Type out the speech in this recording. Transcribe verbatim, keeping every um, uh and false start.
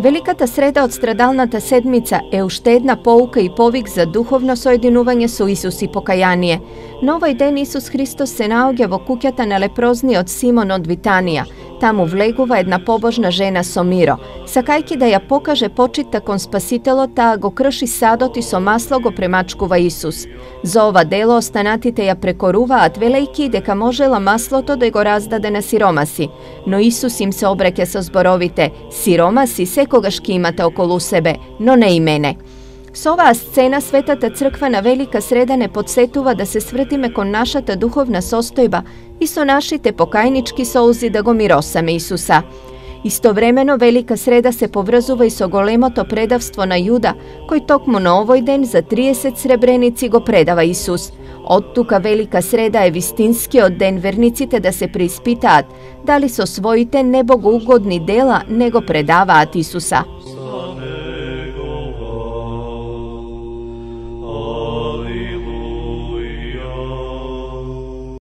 Великата среда од страдалната седмица е уште една поука и повик за духовно соединување со Исус и покаяние. На овој ден Исус Христос се наоѓа во куќата на лепрозниот Симон од Витанија. Таму влегува една побожна жена со миро. Сакајќи да ја покаже почитта кон Спасителот, таа го крши садот и со масло го премачкува Исус. За ова дело останатите ја прекоруваат, велејќи дека можела маслото да го раздаде на сиромаси. Но Исус им се обраќа со зборовите: сиромаси секогаш ки имате околу себе, но не и мене. Со оваа сцена Светата Црква на Велика среда не подсетува да се свртиме кон нашата духовна состојба и со нашите покајнички солзи да го миросаме Исуса. Истовремено Велика среда се поврзува и со големото предавство на Јуда, кој токму на овој ден за триесет сребреници го предава Исус. Од тука Велика среда е вистинскиот ден верниците да се преиспитаат дали со своите небогоугодни дела не го предаваат Исуса.